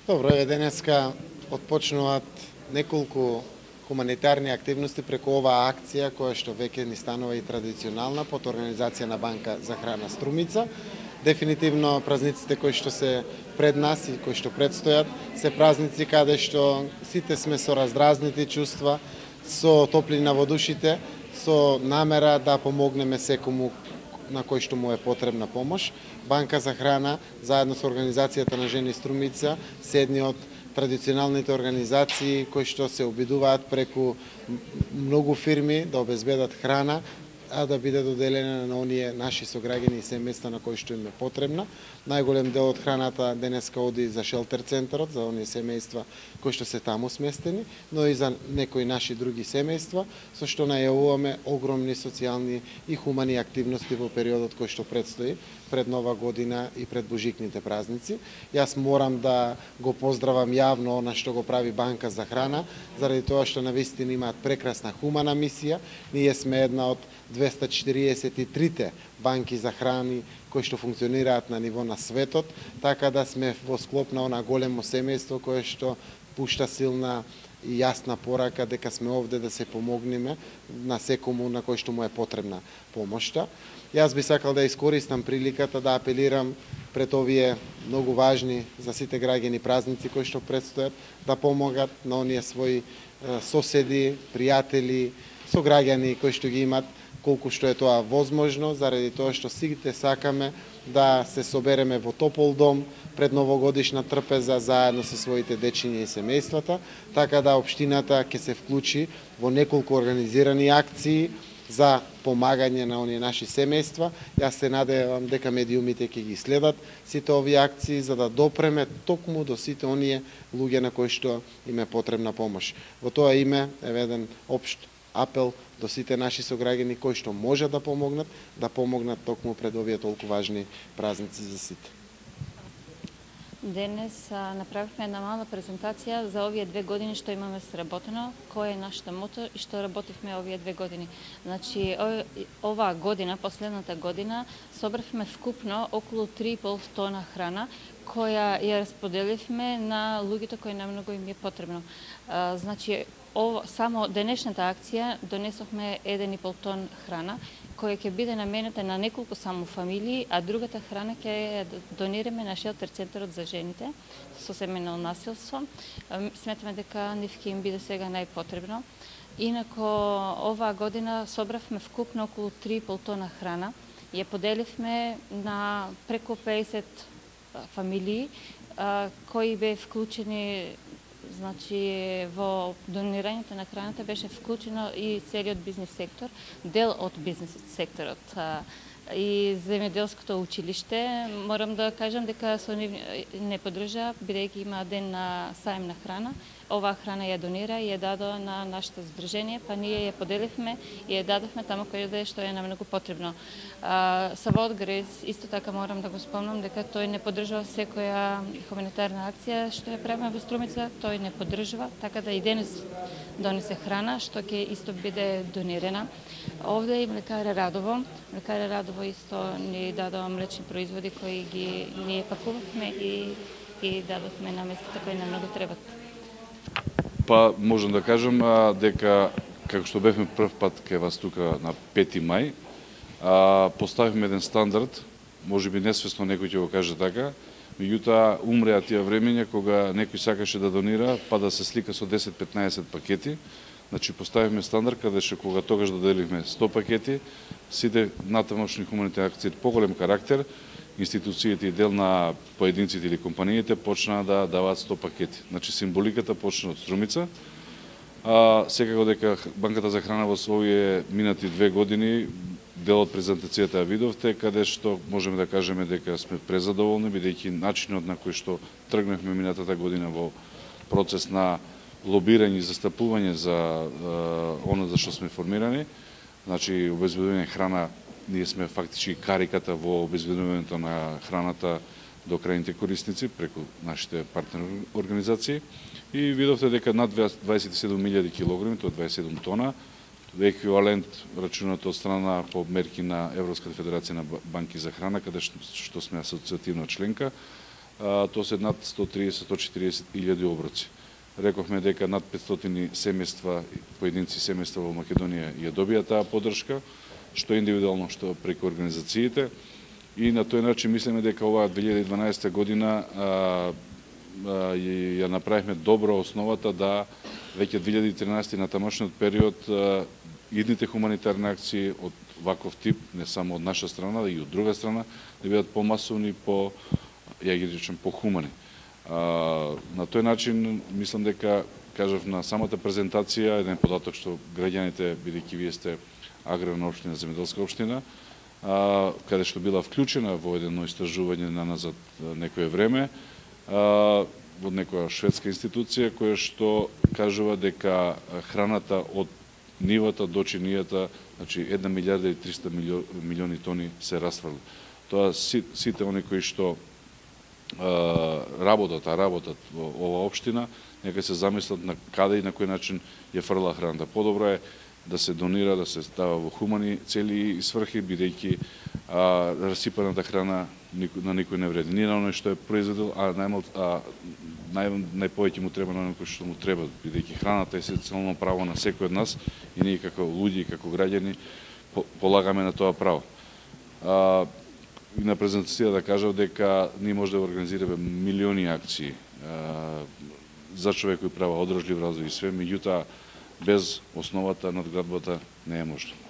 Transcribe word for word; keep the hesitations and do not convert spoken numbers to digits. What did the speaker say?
Добро, еве денеска отпочнуваат неколку хуманитарни активности преку оваа акција која што веќе ни станува и традиционална под организација на Банка за храна Струмица. Дефинитивно празниците кои што се пред нас и кои што предстојат се празници каде што сите сме со раздразнити чувства, со топлина во душите, со намера да помогнеме секому на кој што му е потребна помош. Банка за храна, заедно со Организацијата на жени Струмица, се едни од традиционалните организации кои што се обидуваат преку многу фирми да обезбедат храна, а да биде доделена на оние наши сограѓани и семејства на кои што им е потребна. Најголем дел од храната денеска оди за шелтер центарот, за оние семејства кои што се таму сместени, но и за некои наши други семејства, со што најавуваме огромни социјални и хумани активности во периодот кој што предстои пред Нова година и пред божикните празници. Јас морам да го поздравам јавно она што го прави Банка за храна, заради тоа што навистина имаат прекрасна хумана мисија. Ние сме една од двеста четириесет и трите банки за храни кои што функционираат на ниво на светот, така да сме во склоп на она големо семејство кое што пушта силна и јасна порака дека сме овде да се помогнеме на секому на кој што му е потребна помошта. Јас би сакал да искористам приликата да апелирам пред овие многу важни за сите граѓани празници кои што предстојат да помогат на оние своји соседи, пријатели, сограѓани кои што ги имат колку што е тоа возможно, заради тоа што сите сакаме да се собереме во топол дом пред новогодишна трпеза заедно со своите дечиња и семејствата, така да општината ќе се вклучи во неколку организирани акции за помагање на оние наши семејства. Јас се надевам дека медиумите ќе ги следат сите овие акции за да допреме токму до сите оние луѓе на кои што им е потребна помош. Во тоа име е еден општ апел до сите наши сограѓани кои што можат да помогнат, да помогнат токму пред овие толку важни празници за сите. Денес а, направивме една мала презентација за овие две години што имаме сработено, кој е нашата мото и што работивме овие две години. Значи, оваа година, последната година, собравме вкупно околу три и пол тона храна, која ја расподеливме на луѓето кои најмногу им е потребно. А, значи, Ово, само денешната акција донесохме еден и пол тон храна, која ќе биде наменета на неколку само фамилии, а другата храна ќе ја донираме на шелтер центарот за жените со семејно насилство. Сметаме дека нив ќе им биде сега најпотребно. Инако, оваа година собравме вкупно околу три и пол тона храна. Ја поделивме на преку педесет фамилии, кои бе вклучени. Значи, во донирањето на храната беше вклучено и целиот бизнес сектор, дел од бизнес секторот и земјоделското училиште. Морам да кажам дека со нив не поддржаа, бидејќи има ден на саем на храна. Оваа храна ја донира и ја дадоа на нашето здружение, па ние ја поделивме и ја дадовме таму каде што е намногу потребно. Савод Грез, исто така морам да го спомнам дека тој не поддржува секоја хуманитарна акција што ја правиме во Струмица, тој не поддржува, така да и денес донесе храна што ќе исто биде донирана. Овде и млекара Радово. Млекара Радово исто ни дадоа млечни производи кои ги ние пакувавме и ги дадовме на местата кои нам многу требат. Па можам да кажам а, дека како што бевме прв пат кај вас тука на пети мај, а, поставивме еден стандард, можеби несвесно некој ќе го каже така, меѓутоа умреа тие времења кога некој сакаше да донира, па да се слика со десет-петнаесет пакети. Значи поставивме стандард каде што кога тогаш доделивме сто пакети, сите натамошни хуманитарни акции поголем карактер, институциите и дел на поединците или компаниите почнаа да даваат сто пакети. Значи символиката почна од Струмица. А, секако дека Банката за храна во овие минати две години, дел од презентацијата ја видовте, каде што можеме да кажеме дека сме презадоволни, бидејќи начинот на кој што тргнавме минатата година во процес на лобирање и застапување за оно за што сме формирани, значи обезбедување храна. Ние сме фактички кариката во обезбедувањето на храната до крајните корисници преку нашите партнер организации и видовте дека над дваесет и седум илјади килограми, тоа дваесет и седум тона, еквивалент рачунато од страна по мерки на Европската федерација на банки за храна, каде што сме асоцијативна членка, тоа се над сто триесет до сто четириесет илјади оброци. Рековме дека над петстотини семејства, поединци семејства во Македонија ја добија таа поддршка, што индивидуално, што преку организациите. И на тој начин мислиме дека оваа две илјади и дванаесета година а, а, ја направивме добра основата да веќе две илјади и тринаесета на тамошниот период а, идните хуманитарни акции од ваков тип, не само од наша страна, да и од друга страна, да бидат помасовни, по, ја ги речем, похумани. А, на тој начин, мислам дека, кажав на самата презентација, еден податок што граѓаните, бидејќи вие сте аграрна општина, земјоделска општина, а, каде што била вклучена во едно истражување на назад некое време, а, од некоја шведска институција, која што кажува дека храната од нивата до чинијата, значи една милијарда и триста милиони тони се расфрли. Тоа сите они кои што а, работат, а работат во оваа општина, нека се замислат на каде и на кој начин ја фрла храната. Подобро е да се донира, да се става во хумани цели и сврхи, бидејќи расипаната храна на никој не вреди. Ни на оној што е произведел, а најмал, а нај, најповеќе му треба на оној кој што му треба, бидејќи храната е социјално право на секој од нас и ние како луѓе и како граѓани полагаме на тоа право. А, и на презентација да кажав дека ние може да организираме милиони акции а, за човек кој права одржлив развој и све, меѓутоа без основата, надградбата не е можно.